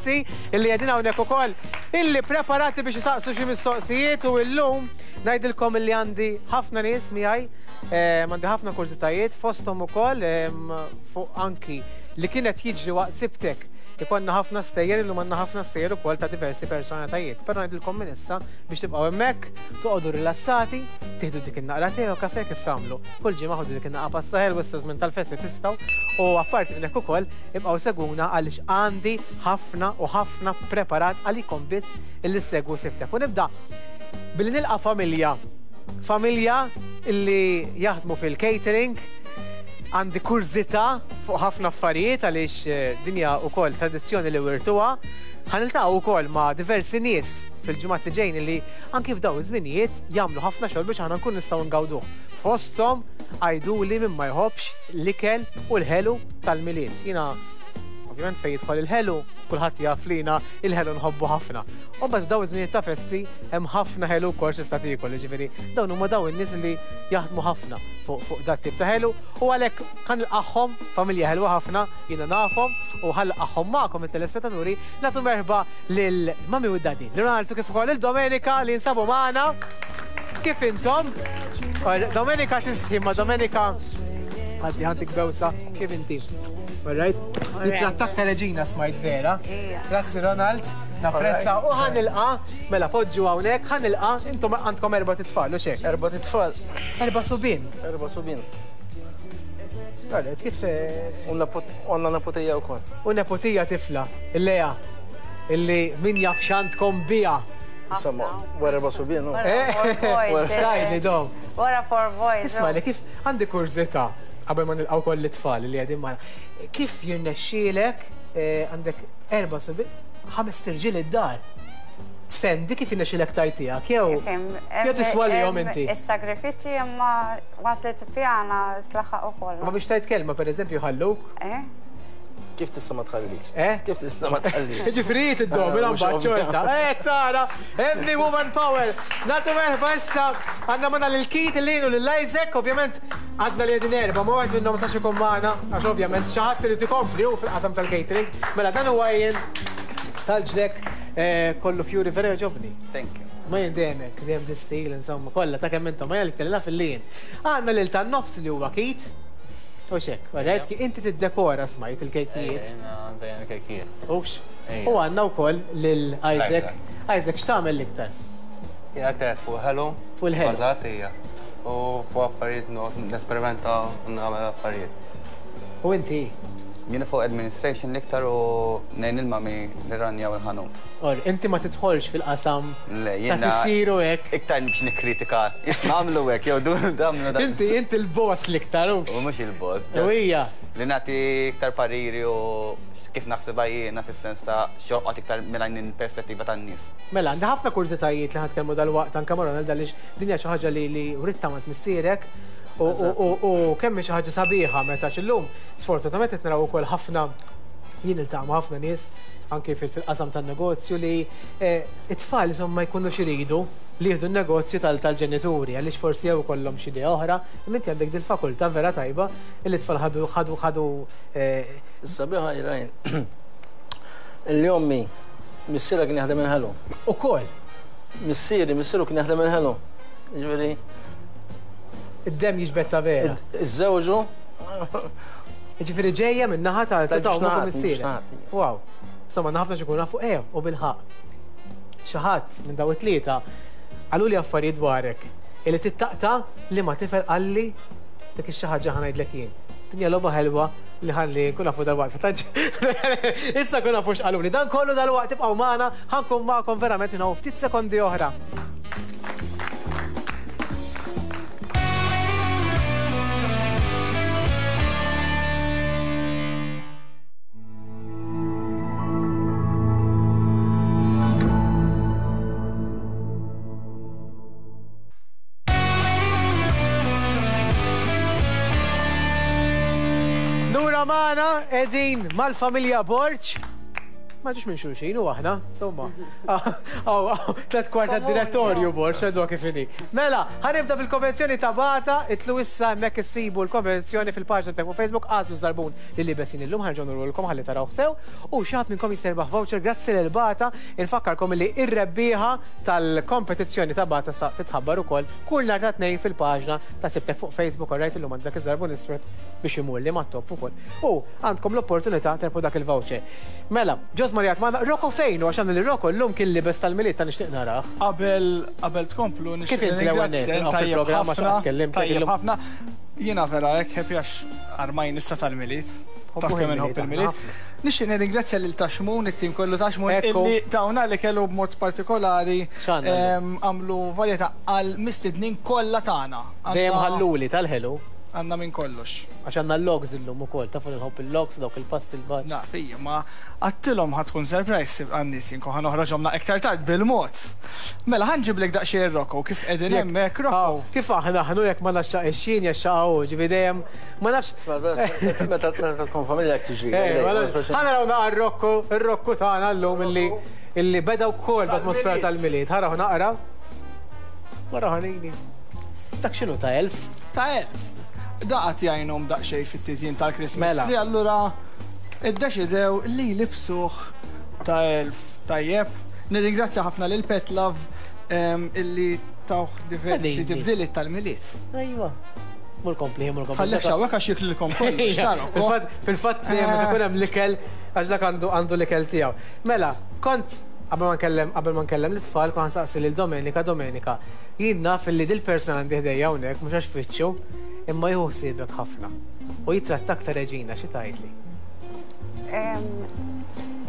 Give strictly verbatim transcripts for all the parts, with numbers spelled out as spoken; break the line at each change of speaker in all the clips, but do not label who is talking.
Illi qegħdin hawnhekk ukoll illi preparati biex isaqsu xi mistoqsijiet u llum ngħidilkom illi għandi ħafna nies miegħi, għandi ħafna kurżitajiet fosthom ukoll fuq anki li kienet jiġri waqt sibtek. Ikonna ħafna stejjer, illum għandna ħafna stejjer ukoll ta' diversi personalitajiet. Però ngħidilkom minn issa biex tibqgħu hemmhekk, toqgħodu rilassati, tieħdu dik in-naqra tè u kafè kif tagħmlu. Kull ġimgħa ħodu dik in-naqra pasta ħelwa issa żmien tal-festi tistgħu u apparti minn hekk ukoll ibqgħu seguna għaliex għandi ħafna u ħafna preparat għalikom biss illi ssegwu sibtek. U nibda billi nilqa' familja. Familja illi jaħdmu fil-catering. Għandi kurżità fuq ħafna affarijiet għaliex dinja wkoll tradizzjoni li wirtuha. Ħa niltaqgħu wkoll ma' diversi nies fil-ġimgħat li ġejjin li anki f'dawn iż-żminijiet jagħmlu ħafna xogħol biex aħna nkun nistgħu ngawduh. Fosthom għiduli min ma jħobbx l-ikel u l-ħelu tal-Milied. Jiena ovvjament fejn jidħol il-ħelu, kulħadd jaf li jiena il-ħelu nħobbu ħafna. U mbagħad f'dawn iż-żminijiet ta' festi hemm ħafna ħelu wkoll x'tista' tiekol, jiġifieri dawn huma dawn in-nies li jaħdmu ħafna fuq fuq dat tip ta' ħelu u għalhekk ħa nilqagħhom, familja ħelwa ħafna, jiena nafhom u ħa nilqagħhom magħkom it-telespettaturi, nagħtu merħba lil Mami u Daddy, lil Ronaldo kif ukoll lil Domenica li jinsabu magħna. Kif intom? Domenica tistħi ma Domenica għaddi ħantik bewsa, kif inti? All right? Nitrattak ta' reġina smajt vera. Grazzi Ronald, napprezza u ħa nilqa', mela poġġu hawnhekk, ħa nilqa', intom għandkom erba' titfal, u xek?
Erba' titfal.
Erba' subien.
Erba' subien.
Alright, kif?
U għandna nepotija wkoll.
U nepotija tifla, il-Lea, illi min jaf x'għandkom biha.
Insomma, wara erba' subien.
X'tgħidli dom?
Wara four boys.
Isma' li kif għandi kurżità qabel ma nilqgħu koll it-tfal li qegħdin magħna. Kif jirnexxielek għandek erba' subien, ħames tirġiel id-dar? Tfendi kif jirnexxielek tajt tiegħek jew jew tiswalihom inti?
Is-sagrifiċċji imma once li tippjana tlaħħaq ukoll.
Ma biex tajt kelma pereżempju ħalluk?
Eh?
Kif tista' ma tħallikx?
Eh?
Kif tista' ma tħallikx?
Jiġifieri tiddomina mbagħad xorta. Eh tara, heavy woman power. Nagħtu merħba issa għandna magħna lil Keith, lil u lil Isaac, ovvjament għadna li qegħdin erba' ma wieħed minnhom ma sax ikun magħna għax ovvjament xi ħadd irid ikompli hu fil-qasam tal-catering. Mela dan huwa jien tal-ġlek kollu fjuri vera jogħġobni.
Thank you.
Ma jien dejjem hekk, dejjem l-istil, insomma, kollha ta' kemm intom ma jgħalik tellha fil-lien. Għandna lil tan-nofs li huwa Keith. U xek, alright, inti tiddekora smajt il-kejkijiet.
Nżejjen il-kejkijiet.
Ux. U għandna wkoll lil Isaac. Isaac, x'tagħmel l-iktar?
Jien aktar qed fuq ħelu.
Fuq il-ħelu.
Bażat hija. U fuq affarijiet nesperimenta u nagħmel affarijiet.
U inti?
Jiena fuq administration l-iktar u ngħin il-mami nirranjaw il-ħanut.
Or, inti ma tidħolx fil-qasam
Le,
ta'
jiena
tisiru hekk.
Iktar biex nikkritika. Isma' għamlu hekk, jew du damlu da.
Inti inti l-boss l-iktar hux.
U mhux il-boss.
U hija.
Li nagħti iktar pariri u kif naħsibha jiena fis-sens ta' xoqgħod iktar minn perspettiva tan-nies.
Mela, għandi ħafna kurżitajiet li ħatkellmu dal-waqt anke ma' Ronald għaliex din hija xi ħaġa li li writta ma' missierek. U kemm xi ħaġa sabiħa meta x'illum sfortunatament qed naraw ukoll ħafna jien niltaqa' ma' ħafna nies anke fil-qasam tan-negozju li it-tfal insomma ma jkunux iridu li jieħdu n-negozju tal-ġenituri għaliex forsi jew ikollhom xi idea oħra, imma inti għandek dil-fakultà vera tajba li t-tfal ħadu ħadu ħadu.
Is-sabiħa Irajn illi ommi missierha kien jaħdem il-ħelu.
Ukoll?
Missieri, missieru kien jaħdem il-ħelu. Jiġifieri
id-dem jiġbed ta' vera.
Iżżewġu.
Jiġifieri ġejja minn naħa ta' ta' ommok u missierek. Wow. Insomma, ħafna xi jkunu nafu eh u bilħaqq. Xi ħadd minn dawn it-tlieta qaluli affarijiet dwarek illi tittaqta' li ma tifel qalli dik ix-xi ħaġa ħa ngħidlek jien. Din hija logħba ħelwa li ħalli nkun nafu dal-waqt. Issa nkun nafu x'qaluli. Dan kollu dal-waqt tibqgħu magħna, ħa nkun magħkom verament minn hawn ftit sekondi oħra. Magħna qegħdin mal-familja Borg. Ma ġiex minn xulxin u aħna, insomma. Tlet kwart tad-direttorju bor, xedwa kif inhi. Mela, ħa nibda bil-konvenzjoni ta' Bata, itlu issa hemmhekk issibu l-konvenzjoni fil-paġna ta' fuq Facebook, għażlu żarbun li libesin illum ħarġu nurulkom ħalli taraw sew u xi ħadd minnkom jista' voucher grazzi lil Bata, infakkarkom li ir-rebbieħa tal-kompetizzjoni ta' Bata sa titħabbar ukoll kull nhar ta' tnejn fil-paġna ta' Sibtek fuq Facebook, alright, illum għandek iż-żarbun iswed biex imur li mat-top ukoll. U għandkom l-opportunità terbħu dak il-voucher. Mela, Ġos Marjat magħna, Rocco fejn u għax għandna li Rocco llum kien libes tal-Milied ta' nixtieq narah.
Qabel qabel tkomplu
Kif inti l-ewwel nett?
Tajjeb
Fil-programm għax
ħafna,
tkellimt
tajjeb
illum.
ħafna. Jiena vera hekk happy għax armajn issa tal-Milied. Taf
Ħobbu
kemm
il-Milied,
inħobb il-Milied.
ħafna.
Nixtieq nirringrazzja lil Ta' Xmun, it-tim kollu Ta' Xmun,
Ekku.
illi tawna li kellu b'mod partikolari
X'għandna
em, għamlu varjetà għal mistednin kollha tagħna.
Dejjem
Għandna-
ħalluli tal-ħelu.
Għandna minn kollox.
Għax għandna l-logs illum ukoll, tafu li nħobb il-logs dawk il-past il-baċ.
Naf, ija, ma għattilhom ħa tkun surprise għan-nies jinko ħa noħroġhom iktar tard bil-mod. Mela ħa nġiblek daqsxejn Rocco, kif qegħdin hemmhekk Rocco.
Kif aħna aħnu jekk ma naxxaq ix-xin jaxxaqgħu, ġifi dejjem ma nafx.
Meta meta tkun familja jekk tiġri.
Eh, ma nafx. Ħa naraw naqra r-Rocco, ir-Rocco tagħna llum illi illi beda wkoll b'atmosfera tal-Milied. Ħaraw naqra. Wara ħanini. Dak x'inhu ta' elf?
Ta' elf. Daqat jgħinhom daqsxejn fit-tiżjin tal-Christmas
Mela.
tree, allura iddeċidew li libsuh ta' elf. Tajjeb. Nirringrazzja ħafna lil Pet Love em, illi tawh diversi
Ħanini.
tibdiliet tal-Milied.
Ejwa. Mur kompli, mur kompli.
Ħallek xawek għax jiklilkom kollox. ta' Rocco.
Fil-fatt, fil-fatt dejjem meta jkun hemm l-ikel għax dak għandu għandu l-ikel tiegħu. Mela, kont qabel ma nkellem qabel ma nkellem l-itfal kont nsaqsi lil Domenika, Domenika, jien naf li dil persuna għandi ħdejja hawnhekk mhux għax fittxu, imma jieħu ħsiebek ħafna. U jitrattak ta' reġina, xi tgħidli?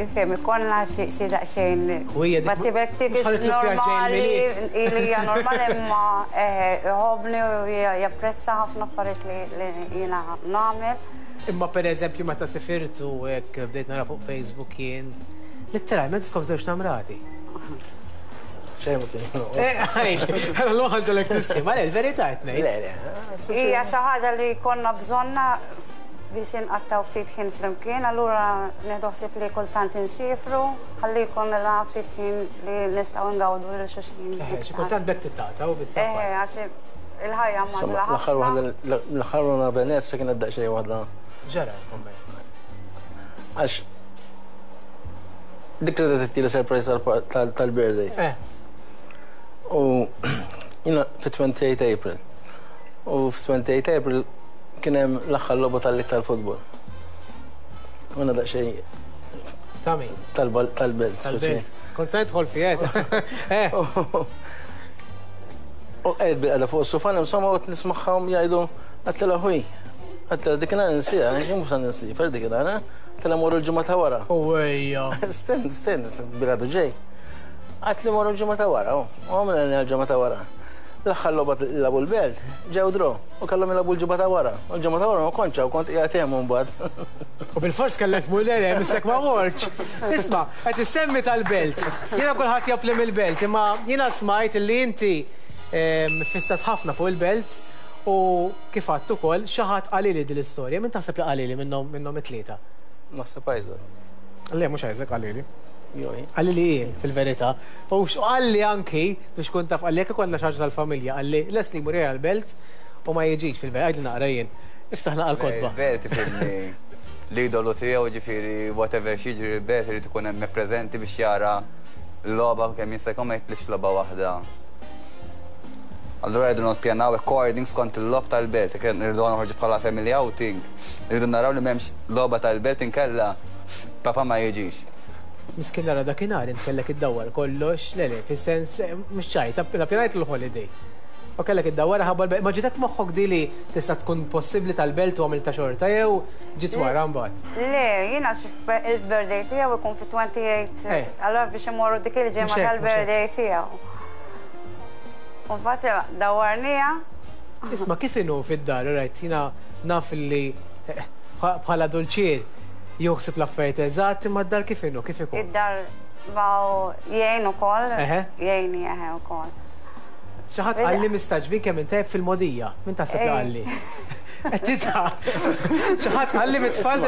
Ifhem, ikollna xi xi daqsxejn.
U hija dik-
Battibetti
mhux ħalli tluf
normali,
vjaġġ
ili hija normali imma eh, iħobbni u japprezza ħafna affarijiet li li jiena nagħmel.
Imma per eżempju meta sifirtu hekk bdejt nara fuq Facebook jien, letteralment skom żewġ namrati.
Xejn ma kien.
Eh, għaj, l-ħu ġolek tistima, le, l-verità qed ngħid.
Le, le.
Hija xi ħaġa li konna bżonna biex inqattaw ftit ħin flimkien, allura nieħdu ħsieb li kultant insifru, ħalli jkollna ftit ħin li nistgħu ngawdu lil xulxin.
Eh, xi kultant bekk tittaqta u bis-safar.
Eh, għax il-ħajja
Insomma,
mgħaġġla
l-aħħar
ħafna.
waħda l-aħħar waħda Venezia kienet daqsxejn waħda.
Ġara l-komment.
Għax dik li tittili surprise tal- tal-birthday.
Eh,
U jiena fi twenty-eight April. U fi twenty-eight April kien hemm l-aħħar logħba tal-iktar futbol. U jiena daqsxejn
ta' min?
tal-belt.
Tal-belt. Kont se nidħol fijet. Eh,
U qegħed bil-qegħda fuq is-sufan, insomma, u nismagħhom jgħidu, għedtilha ħuj. Għedtilha dik insija, jien mhux nsifer dik għedtilha morru l-ġimgħa ta' wara.
U ejja.
Stenn, stenn, biladu ġej. Għedtli morru l-ġimgħa ta' wara, u għamilna l-ġimgħa ta' wara. L-aħħar logħba lagħbu l-Belt, ġew draw, u kellhom jilagħbu l-ġimgħa ta' wara. U l-ġimgħa ta' wara ma kontx hawn, kont qiegħed hemm imbagħad.
U bil-fors kellek tmur le, missek ma morċ. Isma', qed issemmi tal-Belt. Jiena kulħadd jaf li mill-Belt, imma jiena smajt li inti em, fistat ħafna fuq il-Belt u kif għedt ukoll xi ħadd qalili din l-istorja. Min taħseb li qalili minnhom minnhom it-tlieta?
Naħseb Isaac.
Le, mhux Isaac qalili.
Joj.
Qalli li jien, fil-verità. U qalli anki, biex kun taf, qalli jekk ikollna xi ħaġa tal-familja, qalli Leslie mur għal-Belt u ma jiġix fil-verità, għidli naqra jien. Iftaħ naqra l-kotba.
Belt ifhimni l-idolu tiegħu, ġifieri whatever x'jiġri l-Belt irid ikun hemm preżenti biex jara l-logħba kemm jista' jkun ma jitlifx logħba waħda. Allura rridu nippjanaw according skont il-logħob tal-Belt, jekk irridu noħorġu bħala family outing, rridu naraw li m'hemmx logħba tal-Belt inkella papa ma jiġix.
Miskin nara dakinhar int kellek iddawwar kollox, le le, fis-sens eh, mhux ċajt, appjanajt l-holiday. U kellek iddawwar ħabba l-Belt. Ma ġitek moħħok di li tista' tkun possibbli tal-Belt u għamilta xorta jew ġiet wara mbagħad?
Le, jiena il-birthday tiegħu ikun fi twenty-eight,
Eh.
allora biex imorru dik il-ġimgħa
Mhux hekk, mhux
tal-birthday tiegħu. U mbagħad dawwarnija.
Isma', kif inhu fid-dar, right, jiena naf li eh, bħala dulċier joħsib l-affarijiet eżatt, imma d-dar kif inhu, kif ikun?
Id-dar baw jgħin ukoll,
Eħe.
jgħinni eħe ukoll.
Xi ħadd qalli mistagħġbin kemm intajb fil-modija. Min taħseb li
Ej.
qalli? Qed tidħaq. Xi ħadd qalli mit-tfal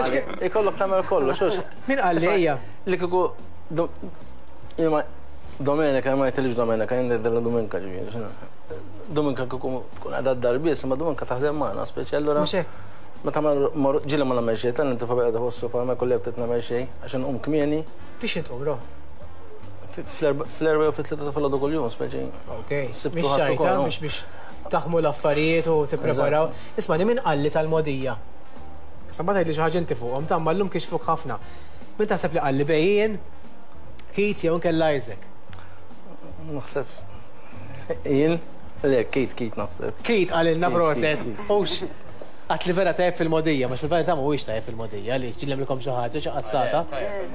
Ikollok tagħmel kollox.
Min qalli ejja?
Li kieku Domenica, ma jgħidilix Domenica, jien ngħidilha Dominka ġifieri. Dominka kieku tkun qiegħda d-dar biss, imma Dominka taħdem magħna speċi allura.
Mhux hekk.
Meta ġieli ma nagħmel xejn, tal inti qiegħda fuq is-sofa ma jkolli btet nagħmel xejn għax inqum kmieni.
Fiex intqum ro?
Fl-erba' jew fit-tlieta ta' filgħodu kuljum speċi.
Ok. Mhix xajta, mhux biex taħmu l-affarijiet u tippreparaw. Isma' min qalli tal-mogħdija. Issa mbagħad tgħidli xi ħaġa inti fuqhom, ta' llum kixfuk ħafna. Min taħseb li qalli bejjien, Keith jew inkella Isaac?
Naħseb jien, le Keith, Keith naħseb.
Keith qalilna proset. Hux għat li vera tajjeb fil-mogħdija, mhux fil-verità mhuwiex tajjeb fil-mogħdija li ġillemilkom xi ħaġa xi qassata.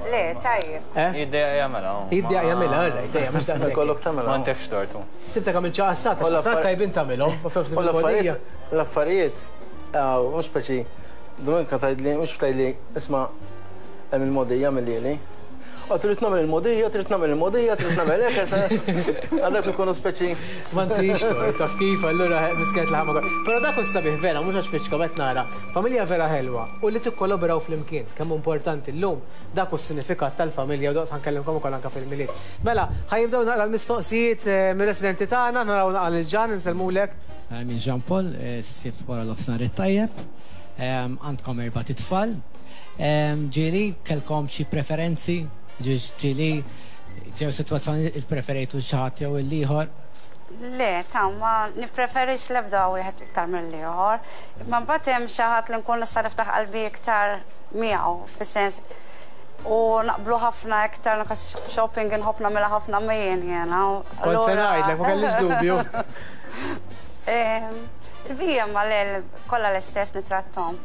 Le, tajjeb.
Jiddejjaq jagħmilha.
Jiddejjaq jagħmilha, alright, ejja, mhux daqshekk.
Ikollok tagħmilha.
M'għandekx tortu.
Tibda tagħmel xi qassata, xi tajbin tagħmilhom, ma
fil-mogħdija. L-affarijiet, mhux speċi, Dominka tgħidli, mhux tgħidli, isma' hemm il-mogħdija mill-lieli. Trid nagħmel il-mogħdija, trid nagħmel il-mogħdija, trid nagħmel hekk, għadak ikunu speċi.
M'għandix tort, taf kif, allura misket laħam ukoll. Però dak hu sabiħ vera, mhux għax fiċkom qed nara. Familja vera ħelwa u li tikkollaboraw flimkien, kemm importanti llum dak hu s-sinifikat tal-familja u daqs ħankellimkom ukoll anke fil-Milied. Mela, ħajibdew naqra l-mistoqsijiet mir-residenti tagħna, naraw naqra lil Ġan, insellmulek.
Min Jean Paul, s-sibt wara l-ofsnar it-tajjeb, għandkom erba' titfal. Ġieli kellkom xi preferenzi? Ġieli ġew sitwazzjoni il-preferejtu xi ħadd jew il-ieħor?
Le, ta' ma nippreferix l-ebda wieħed iktar mill-ieħor. Imma mbagħad hemm xi ħadd li nkun nista' niftaħ qalbi iktar miegħu, fis-sens u naqblu ħafna iktar anke shopping inħobb nagħmilha ħafna miegħi jiena.
Kont se ngħidlek, ma kellix dubju.
Il-bija ma le kollha l-istess nitrattom.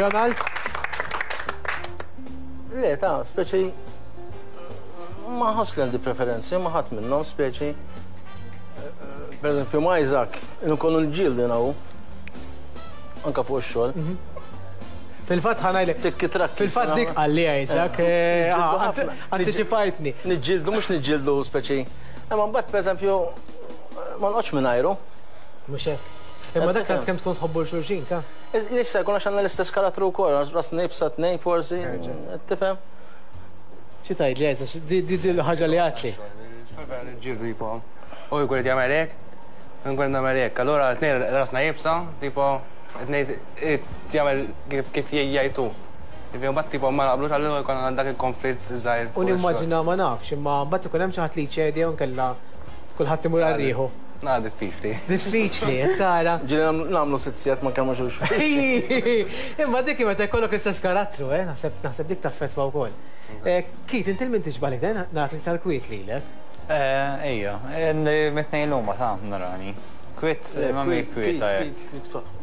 Ronald?
Le, ta' speċi ma ħoss li għandi preferenzi, ma ħadd minnhom speċi. Per eżempju, ma' Isaac, nkunu nġildu naw, anka fuq ix-xogħol.
Fil-fatt ħanajlek.
Tikki trakki.
Fil-fatt dik qalli Isaac, antiċipajtni.
Niġġieldu, mhux niġġieldu speċi. Imma mbagħad per eżempju, ma noqgħodx mingħajru.
Mhux hekk. Imma dak kemm tkun tħobbu l-xulxin, ta'
Issa jkun għax għandna l-istess karattru wkoll, ras nibsa tnejn forsi, tifhem?
Xi tgħidli Isaac, di ħaġa li għatli.
Niġġieldu tipo, u jkun qed jagħmel hekk, u nkun nagħmel hekk. Allura tnejn rasna jibsa, tipo tnejn jagħmel kif jgħidu. Mbagħad tipo ma naqblux allura jkun dak il-konflitt żgħir.
U nimmaġina ma nafx, imma mbagħad ikun hemm xi ħadd li jċedi jew nkella kulħadd imur għal rieħu.
Na, diffiċli.
Diffiċli, tara.
Ġieli nagħmlu sitt sigħat ma nkellmux xulxin.
Imma dik meta jkollok l-istess karattru, eh, naħseb naħseb dik taffettwa wkoll. Keith, inti min tixbaħ lek, nagħti iktar kwiet lilek.
Ejja, mit-tnejn huma ta' narani. Kwiet, ma mi kwiet.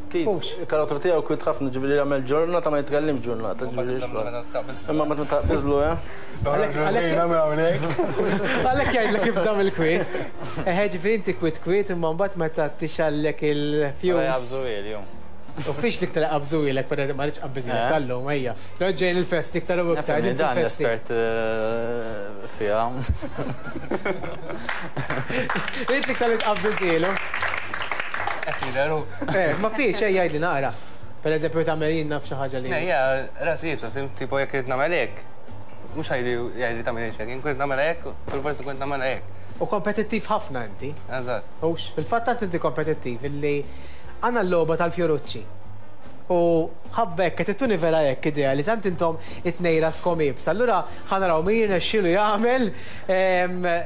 Keith, il-karattru tiegħu kwiet ħafna, ġifieri jagħmel ġurnata ma jitkellimx ġurnata. Imma meta taqbiżlu, eh?
Għalhekk jgħidlek kif żamm il-kwiet. Eħe, ġifieri inti kwiet kwiet imma mbagħad meta tixgħallek il-fuse.
Qabżu ili.
U fiex li iktar qabżu ilek, però ma rridx qabbiżilek tal-lum, ejja. Lo ġejn il-festi iktar u iktar.
Dan l-espert fiha.
Int iktar li tqabbiżilu. Eh, ma fiex, ejja jgħidli naqra. Per eżempju, tagħmel jien naf xi ħaġa li.
Ejja, rasi jibsa, fim, tipo jekk irid nagħmel hekk. Mhux ħajli jgħidli tagħmel hekk, jien kont nagħmel hekk, fil-forsi kont nagħmel hekk.
U kompetittiv ħafna inti.
Eżatt.
Hux, fil-fatt tant inti kompetittiv illi għandna l-logħba tal-Fjorucci. U ħabbek, qed ittuni vera hekk idea li tant intom it-tnejn raskom iebsa. Allura ħa naraw min jirnexxielu jagħmel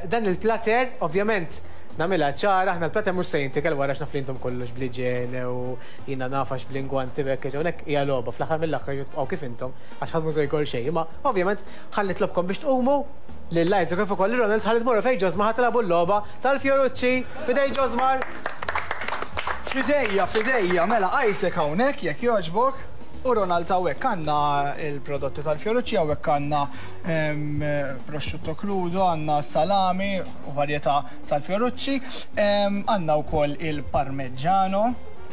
dan il-plater, ovvjament nagħmilha ċara, aħna l-plater mhux se jintikel wara x'naf li intom kollox bl-iġene u jiena naf għax bl-ingwanti b'hekk hawnhekk hija logħba fl-aħħar mill-aħħar tibqgħu kif intom għax ħadd mhu se jkol xejn. Imma ovvjament ħalli nitlobkom biex tqumu lil Isaac kif ukoll Ronald ħalli tmorru fejn Ġosmar ħa tilagħbu l-logħba tal-Fjorucci. Fidej Ġosmar.
Fidejja, fidejja, mela Isaac hawnhekk jekk jogħġbok u Ronald hawnhekk għandna il-prodotti tal-Fjorucci, hawnhekk għandna prosciutto crudo, għandna salami u varjetà tal-Fjorucci, għandna wkoll il-parmigiano,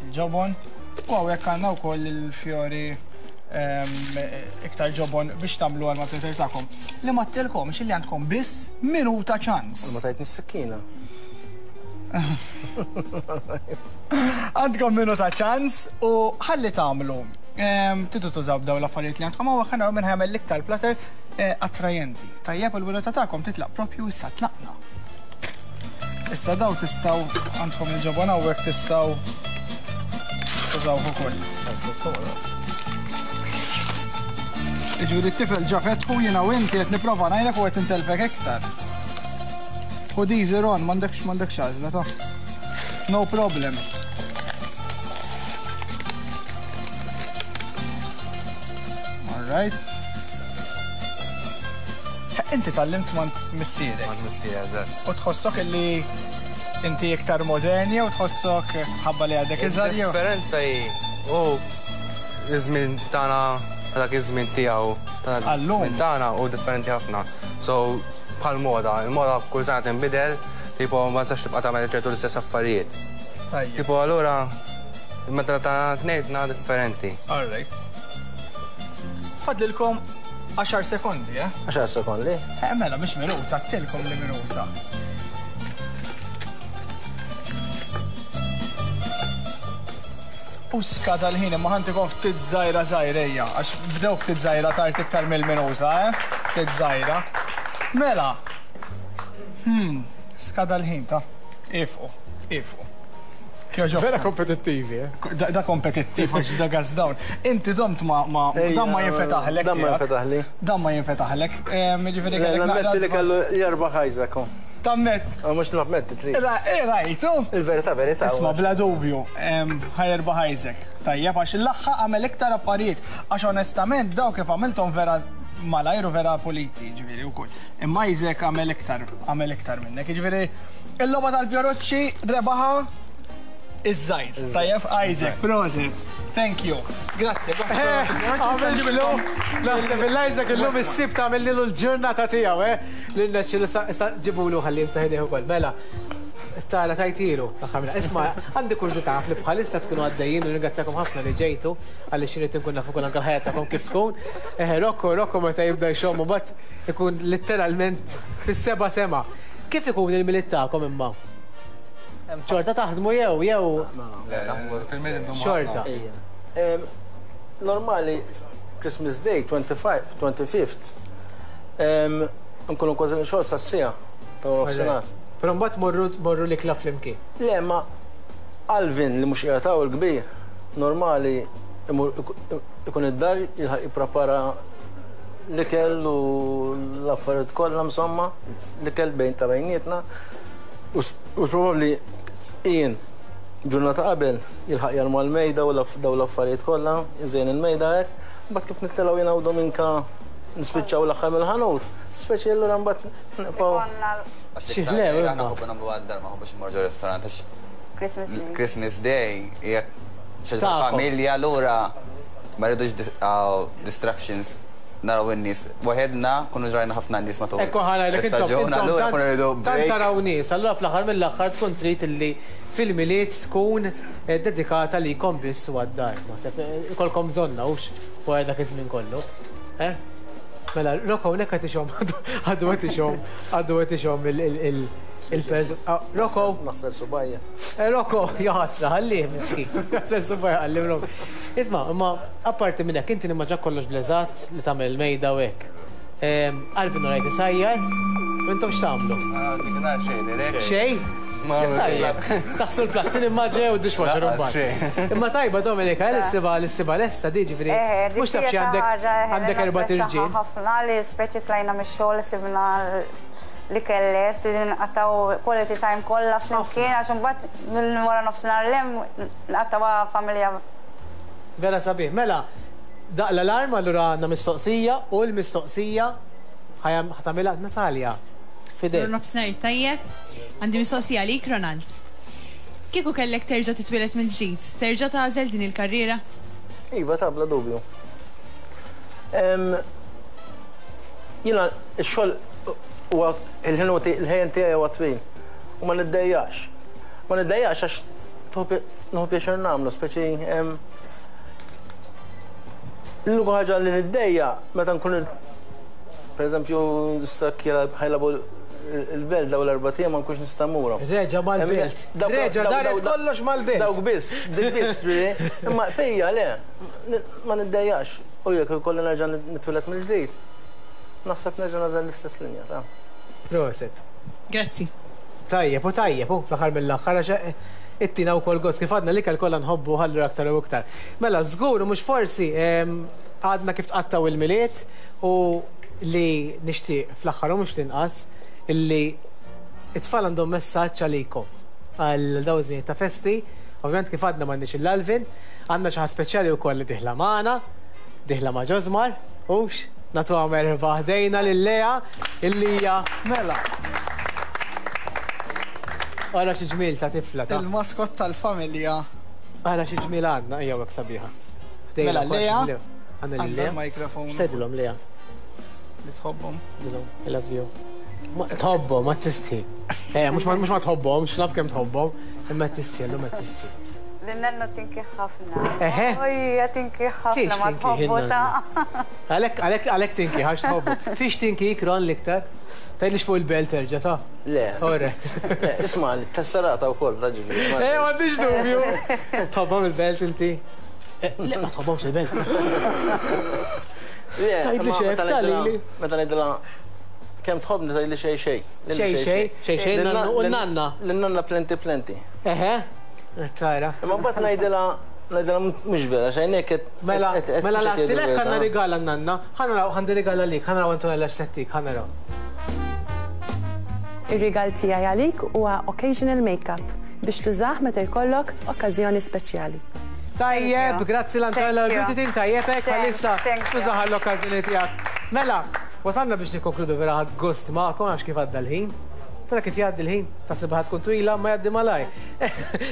il-ġobon, u hawnhekk għandna wkoll il-fjori iktar ġobon biex tagħmlu għal mal-plater tagħkom. Li ma tilkomx illi għandkom biss minuta ċans.
Ma tajtni s-sikkina.
Għandkom minuta ċans u ħalli tagħmlu. Tidu tużaw daw l-affarijiet li għandkom hawn ħa naraw minn ħamel l-iktar platter attrajenti. Tajjeb, il-minuta tagħkom titlaq propju issa, tlaqna. Issa daw tistgħu, għandkom il-ġobon hawnhekk, tistgħu tużaw ukoll. Ġifieri t-tifel ġa fetħu, jiena u inti qed nipprova ngħidlek u qed intelfek iktar. U diżi Ron, m'għandekx m'għandekx għażla ta'. No problem. All right. Inti tgħallimt mant missierek.
Mant missierek, eżatt.
U tħossok illi inti iktar moderni u tħossok ħabba li għadek iżgħar jew?
Differenza hi, u iż-żmien tagħna, dak iż-żmien tiegħu, ta' żmien tagħna u differenti ħafna. So bħal moda, il-moda kull sena tinbidel, tipo ma tistax tibqa' tagħmel ċertu l-istess affarijiet. Tipo allura meta tagħna tnejtna differenti.
All right. Fadlilkom għaxar sekondi, eh?
għaxar sekondi?
Eh, mela, mhix minuta, tilkom li minuta. U skada l-ħin, imma ħantikom ftit żgħira żgħira, għax bdew ftit żgħira tard iktar mill-minuta, eh? Ftit żgħira. Mela. Hmm, skada l-ħin ta' ifqu, ifqu.
Vera kompetittivi, eh?
Da, da kompetittiv, għax da gas down. Inti domt ma, ma, dan ma jinfetaħlek.
Dan ma jinfetaħli.
Dan ma jinfetaħlek. Ġifieri kellek naqra.
Nammetti li kellu jerbaħ Isaac.
Tammet.
Mhux nammetti trid.
Rajtu.
Il-verità, verità.
Isma' bla dubju, ħajerbaħ Isaac. Tajjeb, għax l-aħħa għamel iktar affarijiet. Għax onestament daw kif għamilthom vera malajr u vera puliti, ġifieri wkoll. Imma Isaac għamel iktar, għamel iktar minnek. Ġifieri il-logħba tal-Fjoruċċi rebaħa iż-żgħir. Tajjeb, Isaac, prosit. Thank you. Grazie.
Għamil naħseb il-Isaac illum is-sib tagħmel lilu l-ġurnata tiegħu, eh? Lilna xi ġibulu ħalli jimsaħ idejh ukoll. Mela, tara tajtilu. Isma', għandi kurżità li bħalissa tkunu għaddejjin u ringrazzjakom ħafna li ġejtu għaliex irid inkun naf ukoll anke l-ħajja tagħkom kif tkun. Eh, Rocco, Rocco meta jibda jxomm u mbagħad ikun letteralment fis-seba' sema. Kif ikun il-Milied tagħkom imma? Xorta taħdmu jew jew xorta.
Normali Christmas Day twenty-fifth nkunu kważi xogħol sas-sija ta' nofsinhar.
Però mbagħad morru morru l-ikla flimkien.
Le, ma Alvin li mhux qiegħed hawn il-kbir, normali ikun id-dar jilħaq jipprepara l-ikel u l-affarijiet kollha insomma, l-ikel bejn ta' bejnietna. U probabbli jien ġurnata qabel jilħaq jarma l-mejda u daw l-affarijiet kollha, iżejn il-mejda hekk, mbagħad kif nittelgħu jiena u Dominka nispiċċaw l-aħħar mill-ħanut, speċi allura mbagħad nibqgħu.
Xi ħlew, aħna nħobbu nagħmlu għad-dar, ma nħobbux immorru ġo restaurant għax Christmas Day hija xi familja, allura ma rridux distractions, naraw in-nies. Waħedna kunu ġrajna ħafna nies matul.
Ekku ħana li
intom allura kunu rridu
tant taraw nies, allura fl-aħħar mill-aħħar tkun trid illi fil-Milied tkun dedikata li jkom biss u għad-dar. Naħseb ikolkom bżonna hux wara dak iż-żmien kollu. Eh? Mela, Rocco hawnhekk qed ixomm, għadu qed ixomm, għadu qed ixomm il-perż. Rocco.
Naħsel subajja.
Rocco, jaħasra, ħallih miskin. Naħsel subajja, ħallih Rocco. Isma', imma apparti minn hekk inti nimmaġa kollox bleżat li tagħmel il-mejda u hekk. Alvin rajt isajjar, u intom x'tagħmlu?
Xejn.
Xejn? Sajjar. Taħsu l-plattin immaġa u d-dishwasher imbagħad. Imma tajba Dominika, l-issiba l-issiba lesta di ġifieri. Mhux taf xi għandek għandek erba' tirġiel.
Ħafna li speċi tlajna mix-xogħol sibna li kellest, nqattaw quality time kollha flimkien għax imbagħad minn wara nofsinhar l-hemm nqattawha familja.
Vera sabiħ. Mela, daq l-alarm allura għandna mistoqsija u l-mistoqsija ħatamilha Natalia. Fidel.
Nofsinhar tajjeb. Għandi mistoqsija għalik, Ronald. Kieku kellek terġa' titwieled mill-ġdid, terġa' tagħżel din il-karriera?
Iva, ta' bla dubju. Jiena x-xogħol huwa il-ħin tiegħi huwa twil u ma niddejjax. Ma niddejjax għax nieħu pjaċir nagħmlu, speċi l-unika ħaġa li niddejja meta nkun Per eżempju, issa ħa jilagħbu il-Belt daw l-erbat ijiem ma nkunx nista' mmurhom.
Reġa' mal-Belt. Reġa' daret kollox mal-Belt.
Dawk biss, dik biss, ġifieri. Imma fejja le, ma niddejjax. U jekk ikolli nerġa' nitwieled mill-ġdid, naħseb nerġa' nagħżel l-istess linja ta'.
Proset.
Grazzi.
Tajjeb, u tajjeb, u fl-aħħar mill-aħħar għax ittina wkoll gost kif għadna l-ikel kollha nħobbu ħallu aktar u iktar. Mela żgur mhux forsi għadna kif tqattaw il-Milied u li nixtieq fl-aħħar u mhux l-inqas illi it-tfal għandhom messaġġ għalikom għal dawn iż-żmien ta' festi. Ovvjament kif għadna m'għandniex il-Alvin, għandna xi ħaġa speċjali wkoll li diħla magħna, diħla ma' Ġosmar, hux nagħtuha merħba ħdejna lil Lea illi hija
Mela.
Ara xi ġmiel ta' tifla ta'
Il-maskot tal-familja.
Ara xi ġmiel għandna, ejja hekk sabiħa.
Mela Lea.
Għandna lil Lea.
Mikrofon.
X'tgħidilhom Lea?
Li tħobbhom.
Dilhom, I love you. Tħobbhom, ma tistħi. Eh, mhux ma tħobbhom, x'naf kemm tħobbhom, imma tistħi, llum qed tistħi.
Lin-nannu tinki ħafna.
Eħe.
Ojja tinki ħafna ma tħobbu ta'.
Għalhekk għalhekk għalhekk tinki għax tħobbu. Fiex tinki Ron l-iktar? Tgħidlix fuq il-Belt terġa' ta'?
Le.
Ore.
Isma' tesserata wkoll ta' ġifieri.
Eh, m'għandix dubju. Tħobbhom il-Belt inti? Le, ma tħobbhomx il-Belt. Tgħidli xejn, tgħalili.
Meta ngħidilha kemm tħobbni tgħidli xejn xejn.
Xejn xejn, xejn xejn u n-nanna.
Lin-nanna plenty plenty.
Eħe. Tara.
Imma mbagħad ngħidilha ngħidilha mhux vera xejn hekk.
Mela, mela l-għattilek għandna rigal għan-nanna, ħa naraw għandi rigal għalik, ħa naraw Antonella x'settik, ħa naraw.
Ir-rigal tiegħi għalik huwa occasional makeup biex tużah meta jkollok okkażjoni speċjali.
Tajjeb, grazzi l-Antonella Beauty Team, tajjeb hekk għalissa tużaha l-okkażjoni tiegħek. Mela, wasalna biex nikkonkludu vera ħadt gost magħkom għax kif għadda l-ħin. Tara kif jgħaddi l-ħin, taħseb ħa tkun twila, ma jgħaddi malaj.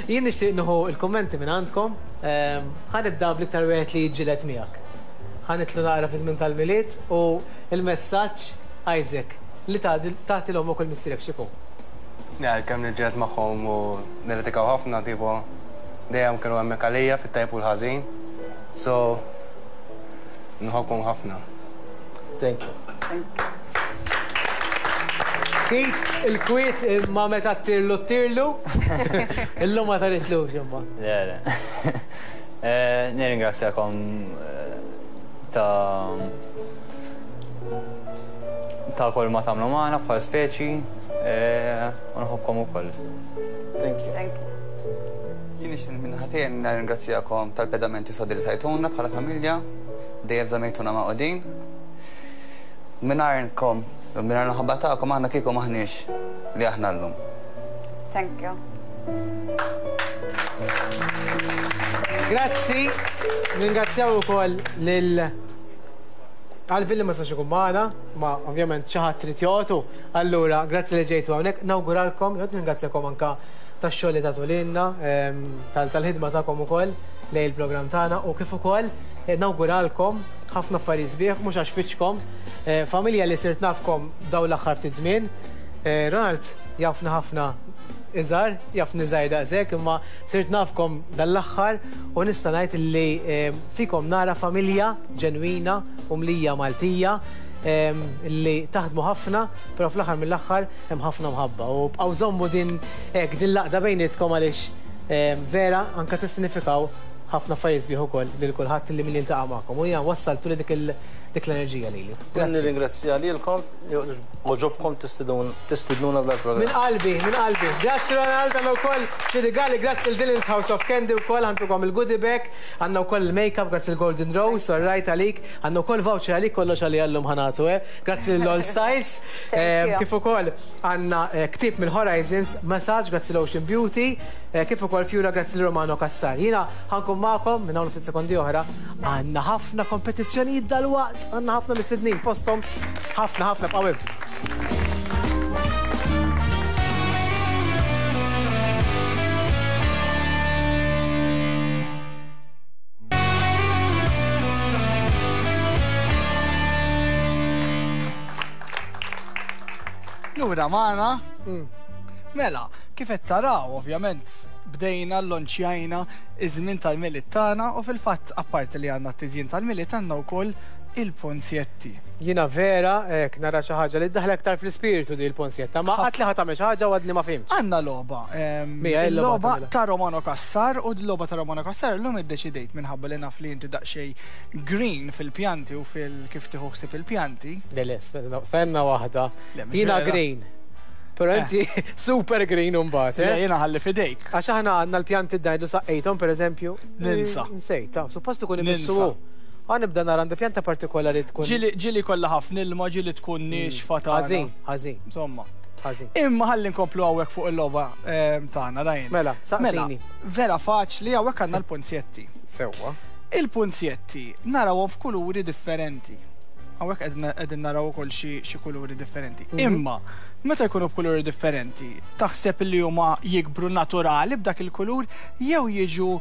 Jien nixtieq nieħu l-kummenti minn għandkom. Ħa nibda bl-iktar wieħed li jiġġieled miegħek. Ħa nitlu naqra fi żmien tal-Milied u l-messaġġ Isaac li tagħti l-ommok u l-missierek x'ikun.
Għalkemm niġġieled magħhom u nirritikaw ħafna tipo dejjem kienu hemmhekk għalija fit-tajb u l-ħażin. So nħobbkom ħafna.
Thank you.
Thank you.
Kit, il-kwiet imma meta ttirlu ttirlu. Illum ma taritlux imma.
Le, le. Nirringrazzjakom ta' ta' kull ma tagħmlu magħna bħal speċi u nħobbkom ukoll.
Thank you.
Thank you.
Jien nixtieq minn ħatejn nirringrazzjakom tal-pedamenti sodi li tajtuna bħala familja, dejjem żamejtuna maqudin. Mingħajrkom, mingħajr l-ħabba tagħkom aħna kieku maħniex li aħna llum.
Thank you.
Grazzi, ringrazzjaw ukoll lil Alvin li ma sax ikun magħna, ma ovvjament xi ħadd trid joqgħodu. Allura, grazzi li ġejtu hawnhekk, nawguralkom, jgħod ringrazzjakom anka tax-xogħol li tagħtu lilna, tal-ħidma tagħkom ukoll lejn il-programm tagħna u kif ukoll nawguralkom ħafna affarijiet sbieħ, mhux għax fiċkom, familja li sirt nafkom dawn l-aħħar ftit żmien. Ronald jafna ħafna iżgħar, jafni żgħir daqshekk, imma sirt nafkom dal-aħħar u nista' ngħid li fikom nara familja ġenwina u mlija Maltija li taħdmu ħafna, però fl-aħħar mill-aħħar hemm ħafna mħabba. U bqgħu żommu din hekk din l-għaqda bejnietkom għaliex vera anke tissinifikaw ħafna affarijiet sbieħ ukoll lil kulħadd li min jiltaqa' magħkom. U jiena wassaltu li dik dik l-enerġija lili.
Nirringrazzja lilkom li għoġobkom tistidnuna f'dal-programm.
Minn qalbi, minn qalbi. Grazzi Ronald, għandna wkoll xi rigali, grazzi l-Dylan's House of Candy wkoll għandkom il-goodie bag, għandna wkoll il-makeup, grazzi l-Golden Rose, all right għalik, għandna wkoll voucher għalik kollox għalli llum ħa nagħtu, eh. Grazzi l-All Styles, kif ukoll għandna ktieb mill-Horizons, massage, grazzi l-Ocean Beauty, kif ukoll fjura grazzi l-Romano Cassar. Jiena ħa nkun magħkom minn hawn ftit sekondi oħra, għandna ħafna kompetizzjonijiet dalwaqt, għandna ħafna mistednin fosthom ħafna ħafna bqgħu.
Lura magħna. Mela, kif qed taraw, ovvjament bdejna l-lonċjajna iż-żmien tal-Milied tagħna u fil-fatt apparti li għandna t-tiżjin tal-Milied għandna wkoll il-ponsjetti.
Jiena vera, hekk nara xi ħaġa li ddaħla aktar fl-ispirtu di l-ponsjetta, ma qatt li ħa tagħmel xi ħaġa u għadni ma fhimtx.
Għandna logħba. Il-logħba ta' Romano Cassar, u l-logħba ta' Romano Cassar illum iddeċidejt minħabba li naf li inti daqsxejn green fil-pjanti u fil-kif tieħu ħsieb il-pjanti.
Le le, stenna waħda. Jiena green. Pero inti super green umbagħad, eh?
Le, jiena ħalli fidejk.
Għax aħna għandna l-pjanti d-dajdu saqqejthom pereżempju.
Ninsa.
Nsejt, suppost ikun imissu. Għan nibda nara għandi pjanta partikolari tkun.
Ġieli kollha ħafna ilma, ġieli tkun nixfa tagħna.
Ħażin, ħażin.
Insomma.
Ħażin.
Imma ħalli nkomplu hawnhekk fuq il-logħba tagħna, Ryan.
Mela, saqsini.
Vera faċli, hawnhekk għandna l-punzjetti.
Sewwa.
Il-punzjetti narawhom f'kuluri differenti. Hawnhekk qegħdin naraw ukoll xi kuluri differenti. Imma meta jkunu b'kuluri differenti, taħseb li huma jikbru naturali b'dak il-kulur jew jiġu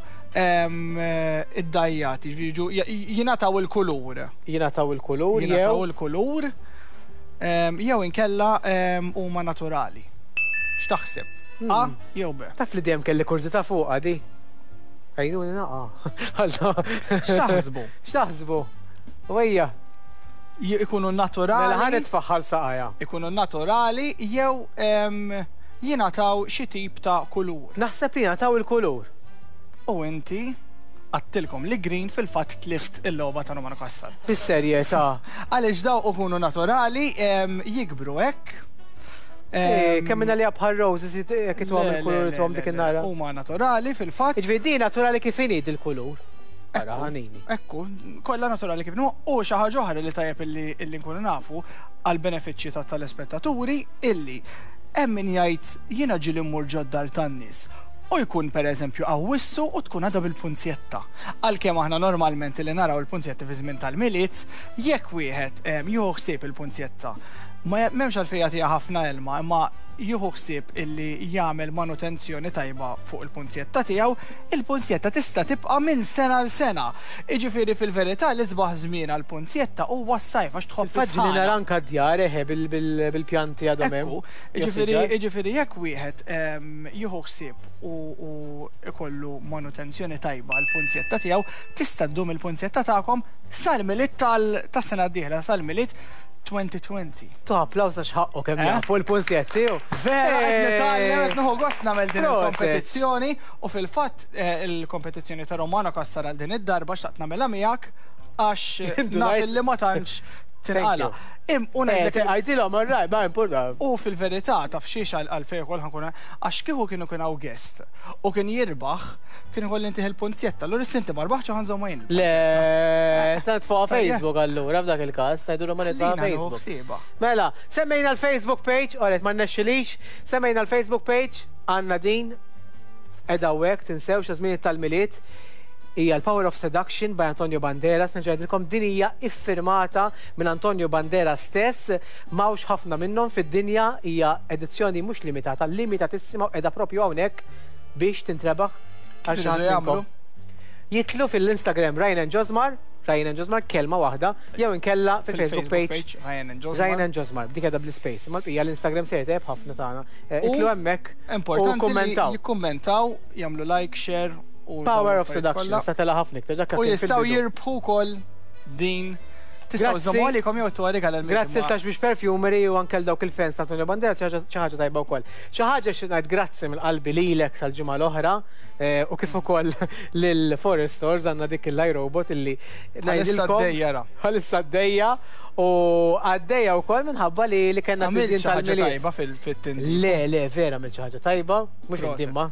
id-dajjati, jiġu jingħataw il-kulur.
Jingħataw il-kulur jew
jingħataw il-kulur jew inkella huma naturali. X'taħseb? A jew B?
Taf li dejjem kelli kurżità fuqha di. Għajnuni naqa.
X'taħsbu?
X'taħsbu? Wejja.
Ikunu naturali.
Mela ħa nitfaħħal saqajja.
Ikunu naturali jew jingħataw xi tip ta' kulur.
Naħseb li jingħataw il-kulur.
U inti għattilkom li green fil-fatt tlift il-logħba ta' Romano Cassar.
Bis-serjetà.
Għaliex daw ikunu naturali jikbru hekk.
Kemm minna li bħal roses jekk itwam il-kulur itwam dik in-nara.
Huma naturali fil-fatt.
Jiġifieri din naturali kif inhi il-kulur. Ħanini.
Ekku, kollha naturali kif inhu, u xi ħaġa oħra li tajjeb illi nkunu nafu għal benefiċċji ta' tal-ispettaturi illi hemm min jgħid jiena ġieli mmur ġod-dar tan-nies u jkun pereżempju qawwissu u tkun għadha bil-punzjetta. Għalkemm aħna normalment li naraw il-punzjetti fi żmien tal-Milied, jekk wieħed jieħu ħsieb il-punzjetta, ma m'hemmx għalfejn jagħtiha ħafna ilma, imma jieħu ħsieb illi jagħmel manutenzjoni tajba fuq il-punzjetta tiegħu, il-punzjetta tista' tibqa' minn sena l sena. Jiġifieri fil-verità l-isbaħ żmien għall-punzjetta huwa s-sajf għax tħobb
is-sħana. Faġli nara anke d-djar eħe bil-pjanti għadhom hemm.
Jiġifieri jekk wieħed jieħu ħsieb u ikollu manutenzjoni tajba għall-punzjetta tiegħu, tista' ddum il-punzjetta tagħkom sal-Milied tas-sena d-dieħla, sal-Milied twenty twenty.
Ta' applawż għax ħaqqu kemm jafu l-punzjetti.
Vera, qed nitgħallem, qed nieħu gost nagħmel din il-kompetizzjoni u fil-fatt il-kompetizzjoni ta' Romano Cassar għal din id-darba xtaqt nagħmilha miegħek għax naf li ma tantx tinqala.
Għajdilhom orraj, ma importa.
U fil-verità taf xiex għalfejn ukoll ħankun għax kieku kienu kien hawn guest u kien jirbaħ kien ikolli ntih il-punzjetta. Allura issa inti ma rbaħtx u ħanżomma jien.
Le, se nitfgħuha Facebook allura f'dak il-każ, ngħidulhom ma nitfgħuha Facebook. Mela, semmejna l-Facebook page, oret ma nnexxilix, semmejna l-Facebook page, għandna din qiegħda hawnhekk, tinsewx żmien tal-Milied. Hija l-Power of Seduction by Antonio Banderas, nerġa' din hija iffirmata minn Antonio Banderas stess, m'hawnx ħafna minnhom fid-dinja, hija edizzjoni mhux limitata, limitatissima u qiegħda propju hawnhekk biex tintrebaħ għal xi ħadd minnkom. Jitlu fil-Instagram Ryan and Josmar, Ryan and Josmar kelma waħda, jew inkella fil-Facebook page Ryan and Josmar, dik qiegħda bl-space, imma l-bqija l-Instagram se jtejjeb ħafna tagħna. Itlu hemmhekk u kummentaw.
Jikkummentaw, jagħmlu like, share.
Power of Seduction, sa tela ħafna iktar, ġakka
U jistgħu jirbħu wkoll din. Tistgħu żommu għalikom jew tuha rigal għal
Grazzi l Tax Biex Perfumery u anke dawk il-fans ta' Antonio Banderas xi ħaġa tajba wkoll. Xi ħaġa xi ngħid grazzi mill-qalbi lilek tal-ġimgħa l-oħra u kif ukoll lil Forest Stores għandna dik il-iRobot illi
ngħidilkom.
Bħalissa għaddejja u għaddejja wkoll minħabba li li kellna tiżjin tal-Milied.
Tajba fil-tindif.
Le, le, vera għamilt xi ħaġa tajba, mhux inti imma.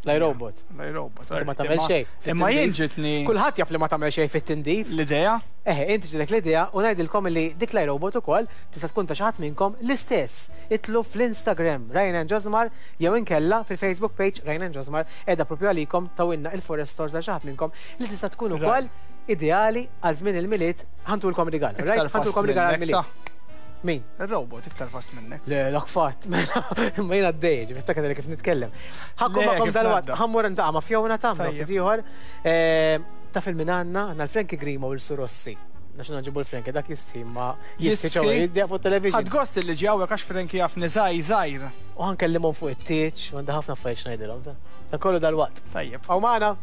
L-iRobot.
L-iRobot.
Ma tagħmel xejn.
Imma jien ġitni.
Kulħadd jaf li ma tagħmel xejn fit-tindif.
L-idea?
Eħe, inti ġitek l-idea u ngħidilkom li dik l-iRobot ukoll tista' tkun ta' xi ħadd minnkom l-istess. Itlu fl-Instagram Ryan and Josmar jew inkella fil-Facebook page Ryan and Josmar qiegħda propju għalikom tawilna il-Forest Stores għal xi ħadd minnkom li tista' tkun ukoll ideali għal żmien il-Milied ħantulkom rigal. Ħantulkom rigal għall-Milied. Min?
Il-robot iktar fast minnek.
Le, dak fatt, mela, imma jiena għaddej, ġifieri dak kif nitkellem. Ħakkum magħkom dalwaqt, ħammur ntaqa' ma' Fiona ta' ftit ieħor. Taf il-min għandna, għandna l-Frankie Grima u l-Surossi. Nax nġibu l-Frankie, dak jistħi ma jistħi ċewa jiddieq fuq television.
Ħadd gost li ġie hawnhekk għax Frankie jafni żgħir żgħir.
U ħankellimhom fuq it-tieġ, għandha ħafna affarijiet ngħidilhom ta'. Ta' kollu dalwaqt.
Tajjeb.
Hawn magħna.